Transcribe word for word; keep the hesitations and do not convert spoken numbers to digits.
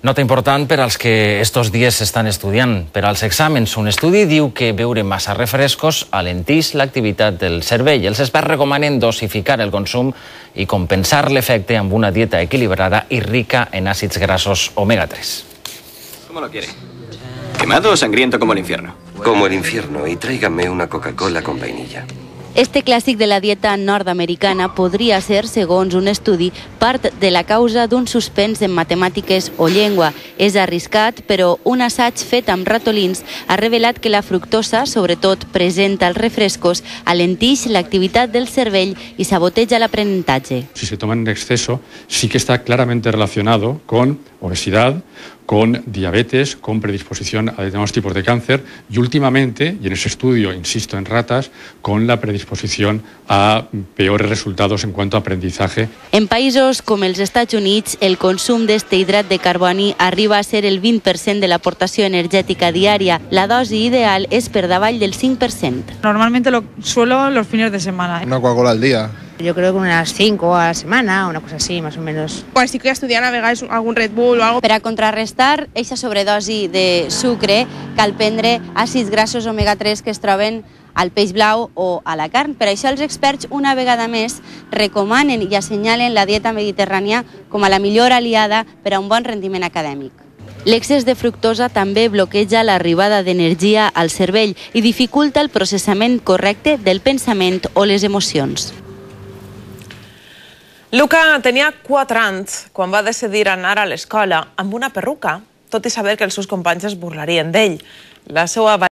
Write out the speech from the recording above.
Nota important per als que estos dies s'estan estudiant. Per als exàmens, un estudi diu que beure massa refrescos alenteix l'activitat del cervell. Els experts recomanen dosificar el consum i compensar l'efecte amb una dieta equilibrada i rica en àcids grassos omega tres. ¿Cómo lo quiere? ¿Quemado o sangriento como el infierno? Como el infierno, y tráigame una Coca-Cola con vainilla. Este clàssic de la dieta nord-americana podria ser, segons un estudi, part de la causa d'un suspens en matemàtiques o llengua. És arriscat, però un assaig fet amb ratolins ha revelat que la fructosa, sobretot present als refrescos, alenteix l'activitat del cervell y saboteja l'aprenentatge. Si se toma en exceso, sí que está claramente relacionado con obesidad, con diabetes, con predisposición a determinados tipos de cáncer y últimamente, y en ese estudio, insisto, en ratas, con la predisposición a peores resultados en cuanto a aprendizaje. En països com els Estats Units, el consum d'este hidrat de carboni arriba a ser el vint per cent de l'aportació energètica diària. La dosi ideal és per davall del cinc per cent. Normalmente lo suelo los fines de semana. Una Coca-Cola al día. Yo creo que unas cinco a la semana, una cosa así, más o menos. Pues si estoy estudiando, a vegades algun Red Bull o algo. Per a contrarrestar aquesta sobredosi de sucre, cal prendre àcids grassos omega tres que es troben al peix blau o a la carn. Per això els experts, una vegada més, recomanen i assenyalen la dieta mediterrània com a la millor aliada per a un bon rendiment acadèmic. L'excés de fructosa també bloqueja l'arribada d'energia al cervell i dificulta el processament correcte del pensament o les emocions. Luca tenia quatre anys quan va decidir anar a l'escola amb una perruca, tot i saber que els seus companys es burlarien d'ell. La seva